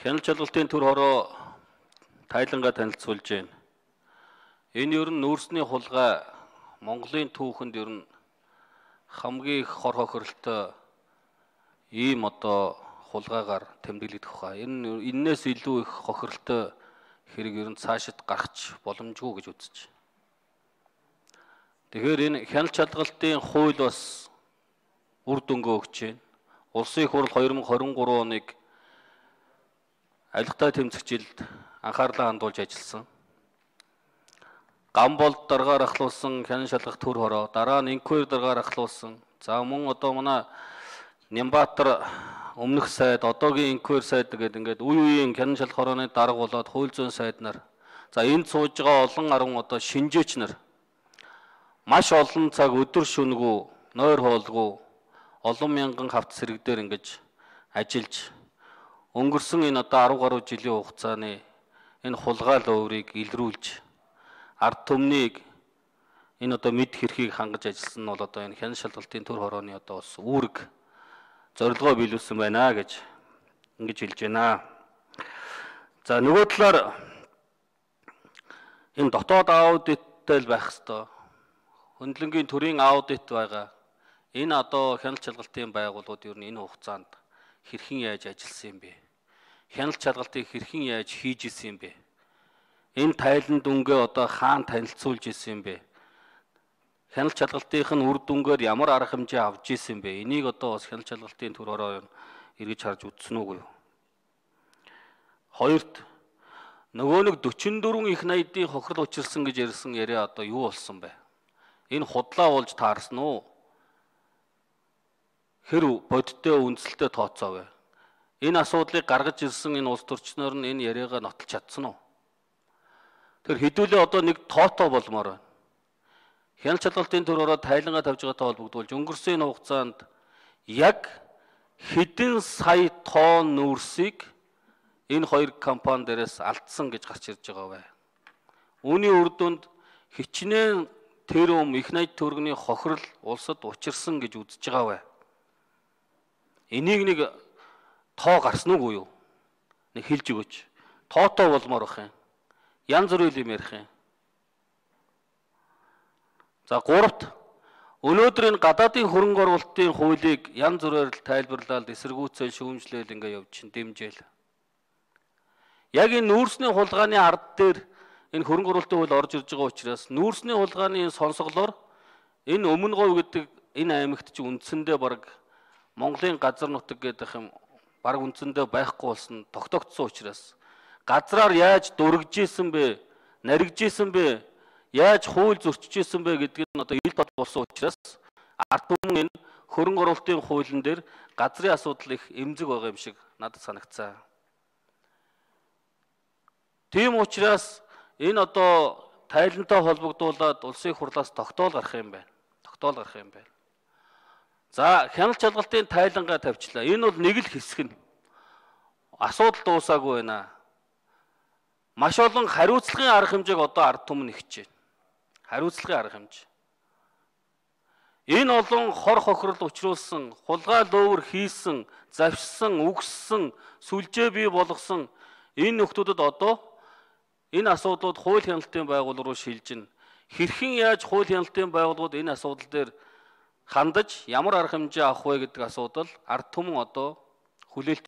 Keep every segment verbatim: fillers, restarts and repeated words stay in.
Хяналт чалгалтын төр хороо тайлангаа танилцуулж байна. Энэ ер нь нүүрсний хулгай Монголын түүхэнд ер нь хамгийн их хор хохиролтой ийм одоо хулгайгаар тэмдэглэгдэх хаа. Энэ энээс илүү их хохиролтой хэрэг ер нь цаашид гарч боломжгүй гэж үзэж. Тэгэхээр энэ хяналт чалгалтын хууль бас үр дүнгээ өгч байна. Улсын их хурл хоёр мың хорин гурав оныг авилгатай тэмцэгчилд анхаарлаа хандуулж ажилласан. Гам болд даргаар ахлуулсан хянан шалгах төр хороо, дараа нь инквайр даргаар ахлуулсан. За мөн одоо манай Нямбатар өмнөх сайд, одоогийн инквайр сайд гэдэг ингээд үе үеийн хянан шалгах хорооны дарга болоод хууль зүйн сайд нар. За энд сууж байгаа олон арван одоо шинжээч нар маш олон цаг өдөр шөнөгүй, нойр хоолгүй олон мянган хавц сэрэг дээр ингэж ажиллаж өнгөрсөн энэ одоо арав гаруй жилийн хугацааны энэ хулгай луурыг илрүүлж ард түмнийг энэ одоо мэд хэрхийг хангаж ажилласан нь бол одоо энэ хянан шалгалтын төр хорооны одоо бас үүрэг зорилгоо биелүүлсэн байна гэж ингэж хэлж байна. За нөгөө талаар энэ дотоод аудиттай л байх хэвээр хөндлөнгийн төрийн аудит байгаа. Энэ одоо хяналт чалгалтын байгууллагууд ер нь энэ хугацаанд хэрхэн яаж ажилласан юм бэ? Хяналт чалгалтыг хэрхэн яаж хийж исэн юм бэ? Энэ тайлан дүнгээ одоо хаана танилцуулж исэн юм бэ? Хяналт чалгалтын үр дүнгээр ямар арга хэмжээ авч исэн юм бэ? Энийг одоо бас хяналт чалгалтын төр хороо эргэж харж үзсэн үгүй юу? Хоёрт нөгөө нэг дөрвөн дөрвөн их найдын хохирол учирсан гэж ярьсан яриа одоо юу болсон бэ? Энэ худлаа болж таарсан уу? Хэр бодиттой үндсэлтэй тооцоо вэ? Энэ асуудлыг гаргаж ирсэн энэ улс төрчнөр нь энэ яриагаа нотолж чадсан уу? Тэр хэдүүлээ одоо нэг тоотоо болмоор байна. Хяналт чалгалтын төр хороо тайлангаа тавьж байгаатай холбогдуулж өнгөрсөн энэ хугацаанд яг хэдэн сая тонн нүүрсийг энэ хоёр компани дээрээс алдсан гэж гарч ирж байгаа вэ? Үүний үр дүнд хичнээн тэрөм их найд төгрөгийн хохирол улсад учирсан гэж үзэж байгаа вэ? Энийг нэг тоо гарсан уу юу? Нэг хэлж өгөөч. Тоотоо болмоор бах юм. Янз бүрийн юм ярих юм. За гуравт өнөөдөр энэ гадаадын хөрөнгө оруулалтын хуулийг янз бүрээр тайлбарлаад эсэргүүцэл шүүмжлэл ингээ явж чинь дэмжээл. Яг энэ нүүрсний хулгайны ард дээр энэ хөрөнгө оруулалтын хууль орж ирж байгаа учраас нүүрсний хулгайны сонсголоор энэ өмнө говь гэдэг энэ аймагт чи үндсэндээ баг Монголын газар нутаг гэдэг юм баг үндсэндээ байхгүй болсон тогтогдсон учраас газраар яаж дургж исэн бэ, наригж исэн бэ, яаж хууль зөрчиж исэн бэ гэдгийг нь одоо ил бод болсон учраас ард түмэн энэ хөрөнгө оруулалтын хуулийн дээр газрын асуудал их эмзэг байгаа юм шиг надад санагцсан. Тийм учраас энэ одоо тайлантай холбогдуулаад улсын их хурлаас тогтоол гарах юм байна. Тогтоол гарах юм байна. За хяналт чалгалтын тайлангаа тавьчлаа. Энэ бол нэг л хэсэг нь. Асуудал дуусаагүй байна. Маш олон хариуцлагын арга хэмжээг одоо ард түмэн нэгж байна. Хариуцлагын арга хэмжээ. Энэ олон хор хохирол учруулсан, хулгай луувар хийсэн, завшсан, үгссэн, сүлжээ бий болгосон энэ нөхдүүдэд одоо энэ асуудлууд хууль хяналтын байгууллага руу шилжин. Хэрхэн яаж хууль хяналтын байгууллагууд энэ асуудал дээр хандаж ямар арга хэмжээ авах вэ гэдэг асуудал ард түмэн одоо хүлээлт.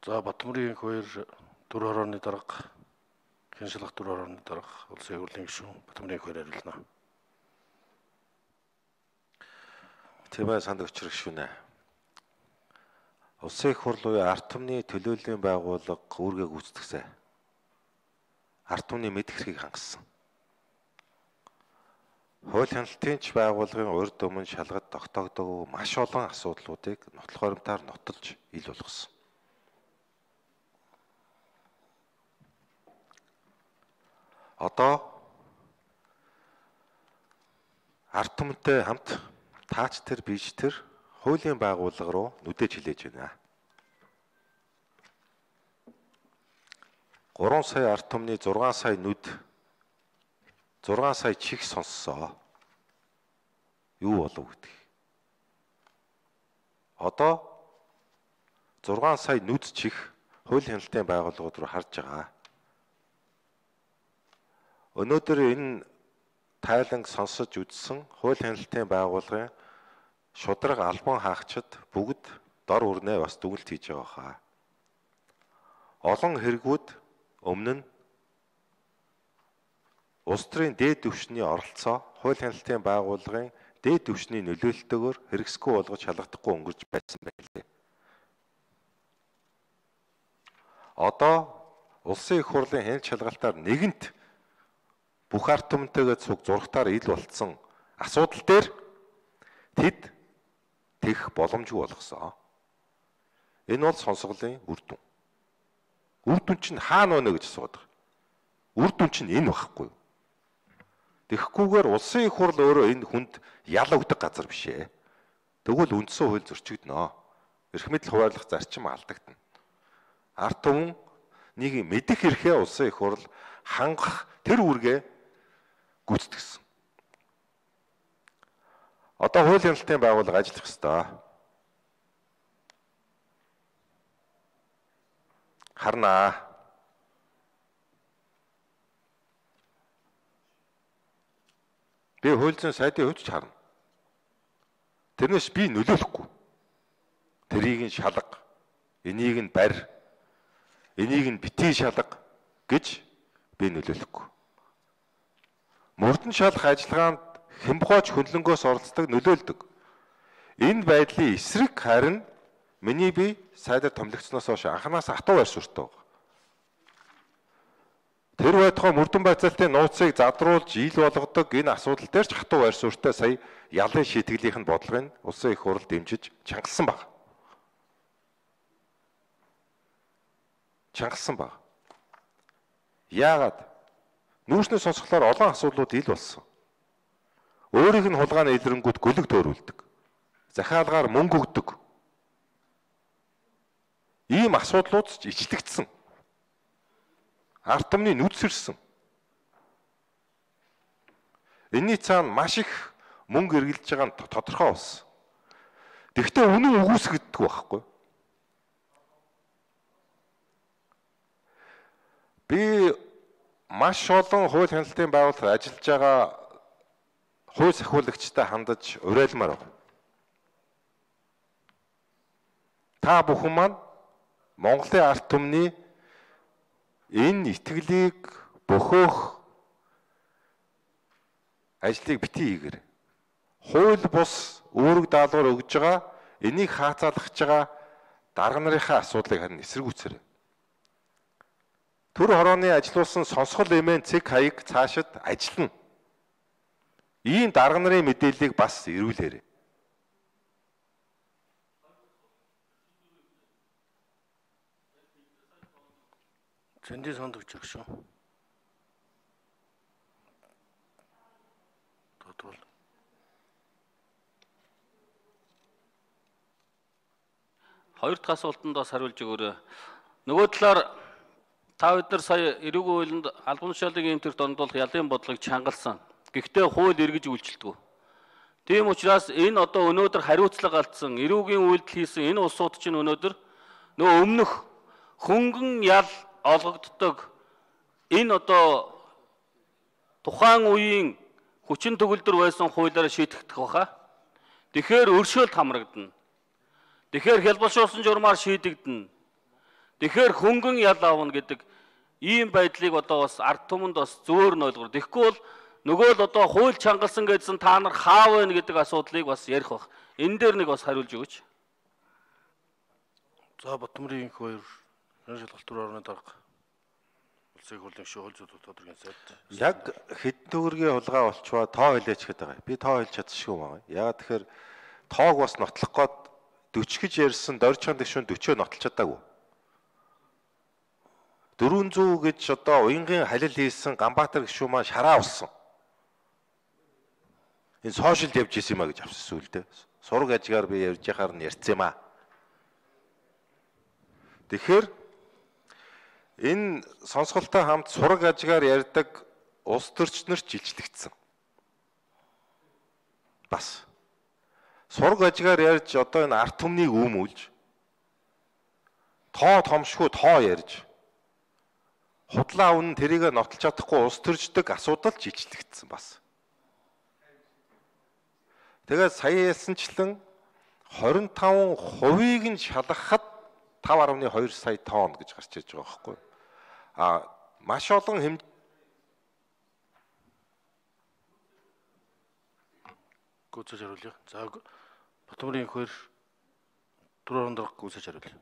За Батмөрийн хоёр төр хорооны дарга, хяналт шалгах төр хорооны дарга, улсын их хурлын гишүүн Батмөрийн хоёр хариулна. Тийм ээ санд өчрөх шүнэ. Улсын их хурл буюу ард түмний төлөөллийн байгууллага үүргээ гүйцэтгэсэн. Ард түмний мэд хэрхийг хангасан. Хууль хяналтын ч байгууллагын урд өмнө шалгад тогтоогдоогүй маш олон асуудлуудыг нотлох баримтаар нотолж ил болгосон. Одоо ард түмэнтэй хамт таач тэр бич тэр хуулийн байгууллага руу нүдэж хилээж байна. гурван сая ард түмний зургаан сая нүд зургаан сая чих сонссоо. юу болов гэдэг. Одоо зургаан сая нүд чих хууль хяналтын байгууллагууд руу харж байгаа. Өнөөдөр энэ тайланг сонсож үзсэн хууль хяналтын байгууллагын шудраг албан хаагчид бүгд дор үрнээ бас дүгнэлт хийж байгаа хаа. Олон хэрэгүүд өмнө нь улс төрийн дээд түвшний оролцоо хууль хяналтын байгууллагын дээд түвшний нөлөөлөлтөөр хэрэгсгүй болгож шалгадахгүй өнгөрч байсан байлээ. Одоо улсын их хурлын хяналт шалгалтаар нэгэнт бүх ард түмэнтэйгээ цуг зургатаар ил болцсон асуудал дээр тэд тех боломжгүй болгосон. Энэ бол сонсголын үр дүн. Үр дүн чинь хаана байна гэж асуудаг. Үр дүн чинь энэ байхгүй юу? Тэгэхгүйгээр улсын их хурл өөрөө энэ хүнд ял өгдөг газар биш ээ. Тэгвэл үндсэн хууль зөрчигдөнө. Эрх мэдэл хуваарлах зарчим алдагдана. Ард түмэн нэг мэдэх эрхээ улсын их хурл хангах тэр үүргээ гүйцэтгсэн. Одоо хууль хяналтын байгууллага ажиллах ёстой. Харнаа. Би хууль зүйн сайдын хувьд ч харна. Тэрнээс би нөлөөлөхгүй. Тэрийг нь шалга, энийг нь барь, энийг нь битгий шалга гэж би нөлөөлөхгүй. Мөрдөн шалах ажиллагаанд хямбгооч хөндлөнгөөс оролцдог нөлөөлдөг. Энэ байдлын эсрэг харин миний бие сайдаар томилогдсноос хойш анханаас хатуу байр суурьтай байна. Тэр байтугай мөрдөн байцаалтын нууцыг задруулж ил болгодог энэ асуудал дээр ч хатуу байр суурьтай сая ялын шийтгэлийнх нь бодлогыг улсын их хурл дэмжиж чангалсан баг. Чангалсан баг. Яагаад? Нүүрсний сонсголоор олон асуудлууд ил болсон. Өөрийнх нь хулгайны илрэнгүүд гөлөг төөрүүлдэг. Захиалгаар мөнгө өгдөг. Ийм асуудлууд ч ичлэгдсэн. Ард түмний нүдсэрсэн. Энийний цаана маш их мөнгө эргэлж байгаа нь тодорхой болсон. Тэгэхдээ үнэн үгүйсгддэг байхгүй. Би маш олон хууль хяналтын байгууллагад ажиллаж байгаа хууль сахиулагчтай хандаж уриалмаар байна. Та бүхэн маань Монголын ард түмний энэ итгэлийг бөхөөх ажлыг битгий хийгэр. Хууль бус үүрэг даалгавар өгж байгаа энийг хаацаалгах байгаа дарга нарынхаа асуудлыг харин эсэргүүцээрэй. Төр хорооны ажилуулсан сонсгол эмээн цэг хаяг цаашид ажиллана. Ийм дарга нарын мэдээллийг бас ирүүлээрэй. Зөндөө сондогч яг шүү. Тодвол. Хоёр дахь асуултанд бас хариулж өгөөрэй. Нөгөө талаар та бид нар сая эрүүгийн хуулинд албан тушаалын эмтэрт ондуулах ялын бодлогыг чангалсан. Гэхдээ хууль эргэж үйлчилдэг. Тийм учраас энэ одоо өнөөдөр хариуцлага алдсан эрүүгийн үйлдэл хийсэн энэ улсууд чинь өнөөдөр нөгөө өмнөх хөнгөн ял олгогддог энэ одоо тухайн үеийн хүчин төгөлдөр байсан хуулиараа шийдэгдэх баха. Тэгэхээр өршөөлт хамрагдана. Тэгэхээр хялбаршуулсан журмаар шийдэгдэнэ. Тэгэхээр хөнгөн ял аавна гэдэг ийм байдлыг одоо бас ард түмэнд бас зөөр нь ойлгох. Тэгэхгүй бол нөгөө л одоо хууль чангалсан гэдсэн та нар хаа вэ гэдэг асуудлыг бас ярих баг. Энэ дээр нэг бас хариулж өгөөч. За Батмөрийн их хоёр хяналтын шалгалт төр орны дарга улсын их хурлын шүүх зүйн тодорхой сайд. Яг хэдэн төгрөгийн хулгай болчваа тоо хэлээч гэдэг байгаа. Би тоо хэлж чадчихгүй байгаа. Ягаад тэгэхээр тоог бас нотлох гээд forty гэж ярьсан доржхан дэвшүүн forty нотолж чадаагүй. four hundred гэж одоо уянгийн халил хийсэн Ганбаатар гишүүн маань шараа болсон. Энэ сошиалд явж исэн юм а гэж авсан сүулдэ. Сураг ажгаар би ярьж яхаар нь ярьсан юм а. Тэгэхээр энэ сонсголтой хамт сураг ажгаар ярьдаг улс төрчнөр ч жилчлэгдсэн. Бас Сураг ажгаар ярьж одоо энэ арт түмнийг үүмүүлж тоо томшгүй тоо ярьж худлаа үнэн тэрийг нотолж чадахгүй ус төрждөг асуудал жижиглэгдсэн бас. Тэгээд сая ялсанчлан хорин таван хувийг нь шалгахад тавь гаруй хоёр сая тонн гэж гарч иж байгаа байхгүй. А маш олон хэм гүйцэж хариулъя. За Батбаамарын хоёр дөрөв дарга гүйцэж хариулъя.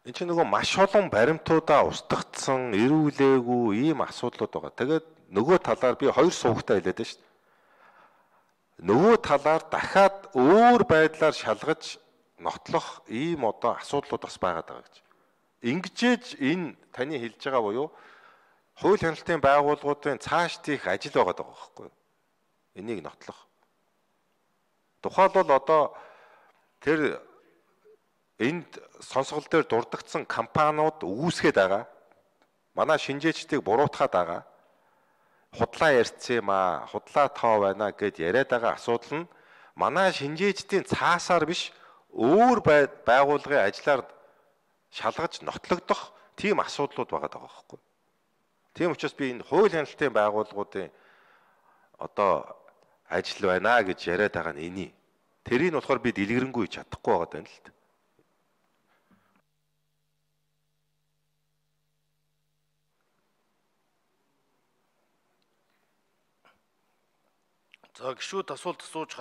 Энд чинь нөгөө маш олон баримтуудаа устгагдсан, эрүүлээгүй ийм асуудлууд байгаа. Тэгээд нөгөө талаар би хоёр суугтай хэлээд байна шүү дээ. Нөгөө талаар дахиад өөр байдлаар шалгаж нотлох ийм одоо асуудлууд бас байгаад байгаа гэж. Ингэжээж энэ таны хэлж байгаа буюу хууль хяналтын байгууллагуудын цааш тийх ажил байгаа даа байхгүй юу? Энийг нотлох. Тухайлбал одоо тэр энд сонсгол дээр дурдгдсан компаниуд үүсгээд байгаа. Манай шинжээчдийг буруутгаад байгаа. Худлаа ярьсан юм аа, худлаа тоо байна гэд яриад байгаа асуудал нь манай шинжээчдийн цаасаар биш өөр байгууллагын ажлаар шалгаж нотлогдох тийм асуудлууд байгаа даа байхгүй. Тийм учраас би энэ хууль хяналтын байгууллагуудын одоо ажил байна гэж яриад байгаа нь эний. Тэрийг нь болохоор би дэлгэрэнгүй чадахгүй байгаа даа л дээ. За гişүүд асуулт асууж